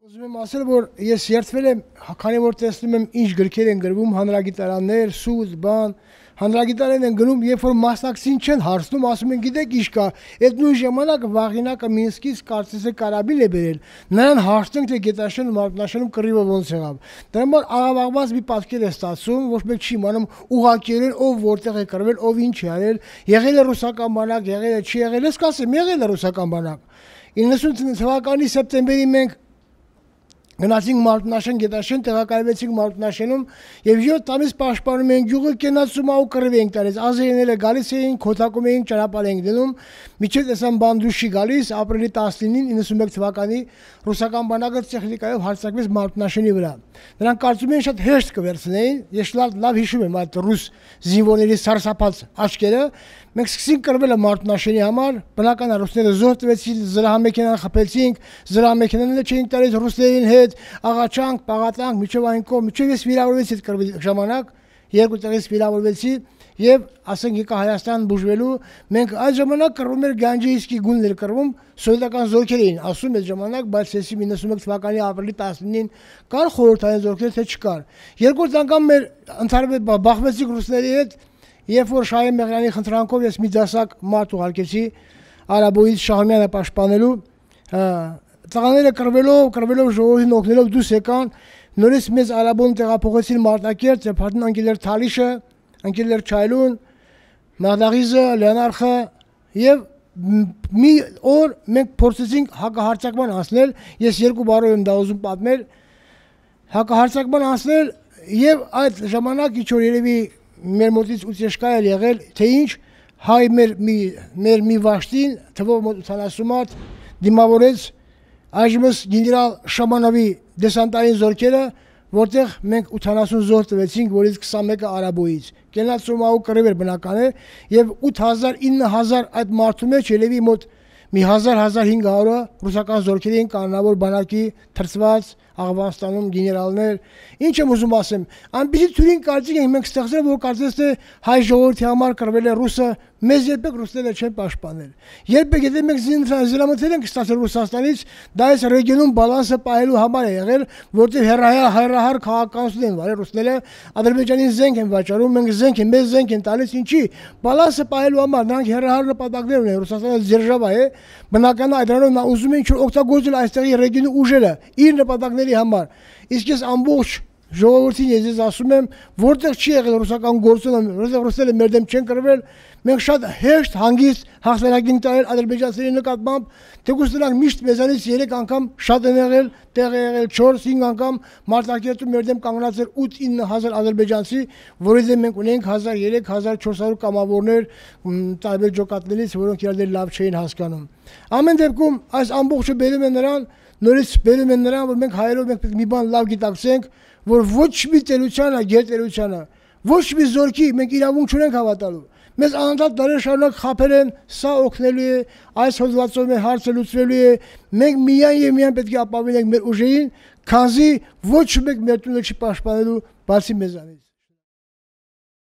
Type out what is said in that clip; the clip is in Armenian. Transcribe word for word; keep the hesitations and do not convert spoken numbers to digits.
Ուզում եմ ասել, որ ես երդվել եմ, քանի որ տեսնում եմ ինչ գրքեր են գրվում, հանրագիտարաններ, սուտ, բան, հանրագիտարան են գնում, երբ որ մասնակցին չեն հարցնում, ասում են գիտեք ինչ կա, այդ նույն ժամանակ Վաղինակը Մինսկից կարծես է կարաբին է բերել, նրան հարցնենք թե Գետաշեն Մարտնաշենում կռիվը ոնց եղավ։ Դրա համար աղավաղված մի պատկեր է ստացվում, ոչ մեկ չի իմանում ուղղակիորեն ով որտեղ է կռվել, ով ինչ է արել, եղել է ռուսական բանակ, եղել է չի եղել, ես կասեմ, եղել է ռուսական բանակ։ իննսուն թվականի սեպտեմբերի մենք գնացինք Մարտնաշեն, Գետաշեն, տեղակայվեցինք Մարտնաշենում եւ յոթ ամիս պաշտպանում էին գյուղը, կենացում ու կռիվ էինք տալիս, ազերիները գալիս էին, քոթակում էին, ճանապարհ էինք դնում, միջև տեսան բանդուշի գալիս, ապրիլի տասնինին իննսունմեկ թվականի ռուսական բանակը տեխնիկայով հարձակվեց Մարտնաշենի վրա։ Նրանք կարծում էին շատ հեշտ կվերցնեին, ես լավ լավ հիշում եմ այդ ռուս զինվորների սարսափած աչքերը, մենք սկսեցինք կռվելը Մարտնաշենի համար, բնական է ռուսները զոհ տվեցին, զրահամեքենան խփեցինք, զրահամեքենաները չէին տալիս ռուսներին հետ, աղաչանք, պաղատանք, միջև այն կողմ, միջև ես վիրավորվեցի այդ կռվի ժամանակ, երկու տեղից վիրավորվեցի եւ ասենք եկա Հայաստան բուժվելու, մենք այդ ժամանակ կռվում էր Գանջեիսկի գունդն էր կռվում, սովետական զորքեր էին ասում այդ ժամանակ, բայց հեսի իննսունմեկ թվականի ապրիլի տասնինին կար խորհրդային զորքեր, թե չկար։ Երկրորդ անգամ մեր ընդհանրապես բախվեցինք ռուսների հետ, երբ որ Շահե Մեղրյանի խնդրանքով ես մի դասակ մարդ ուղարկեցի Արաբոյից Շահումյանը պաշտպանելու, տղաները կռվելով, կռվելով ժողովրդին օգնելով դուրս եկան, նորից մեզ Արաբոն տեղափոխեցին Մարտակերտ, Ձեփարդին անկելեր Թալիշը, անկելեր Չայլուն, Մաղդաղիզը, Լեոնարխը եւ մի օր մենք փորձեցինք հակահարձակման անցնել, ես երկու բառով եմ դա ուզում պատմել, հակահարձակման անցնել եւ այդ ժամանակ ինչ որ երևի մեր մոտից ուծեշկա էր եղել, թե ինչ հայ մեր մի մեր մի վաշտին թվով մոտ ութանասուն մարդ դիմավորեց այժմս գեներալ Շամանովի դեսանտային զորքերը, որտեղ մենք ութանասուն զոհ տվեցինք, որից քսանմեկը Արաբոյից։ Կենացումահու կռիվ էր բնական է, եւ ութ հազար ինը հազար այդ մարդու մեջ երևի մոտ մի հազար հազար հինգ հարյուրը ռուսական զորքերի են կանոնավոր բանակի թրծված Աղվանստանում գեներալներ, ինչ եմ ուզում ասեմ, այնպեսի թյուրին կարծիք ենք մենք ստեղծել, որ կարծես թե հայ ժողովրդի համար կռվել է ռուսը, մեզ երբեք ռուսները չեն պաշտպանել։ Երբեք եթե մենք զինամթեր ենք ստացել Ռուսաստանից, դա այս ռեգիոնում բալանսը պահելու համար է եղել, որտեղ հերահար հերահար քաղաքականություն են վարել ռուսները, Ադրբեջանին զենք են վաճառում, մենք զենք են, մեզ զենք են տալիս, ինչի բալանսը պահելու համար, նրանք հերահար նպատակներ ունեն, Ռուսաստանը ձերժավա է, բնական է այդրանով նա ուզում է ինչ-որ օգտագործել այստեղի ռեգիոնի ուժերը իր նպատակների համար, իսկ ես ամբողջ ժողովրդին ես ես ասում եմ, որտեղ չի եղել ռուսական գործոնը, որտեղ ռուսները մեր դեմ չեն կռվել, մենք շատ հեշտ հանգիստ հաղթանակին տալ ադրբեջանցիների նկատմամբ, թեկուզ նրանք միշտ մեզանից երեք անգամ շատ են եղել, տեղ է եղել չորս հինգ անգամ Մարտակերտում մեր դեմ կանգնած էր ութ ինը հազար ադրբեջանցի, որի դեմ մենք ունենք հազար երեք հազար չորս հարյուր կամավորներ տարբեր ջոկատներից, որոնք իրար լավ չէին հասկանում։ Ամեն դեպքում այս ամբողջը բերում է նրան, նորից բերում են նրան, որ մենք հայերով մենք պետք մի բան լավ գիտակցենք, որ ոչ մի տերությանը, գերտերությանը, ոչ մի զորքի մենք իրավունք չունենք հավատալու։ Մեզ անընդհատ դարեր շարունակ խաբել են, սա օգնելու է, այս հոդվածով մեր հարցը լուծվելու է, մենք միայն եւ միայն պետք է ապավինենք մեր ուժերին, քանզի ոչ մեկ մեր տունը չի պաշտպանելու բացի մեզանից։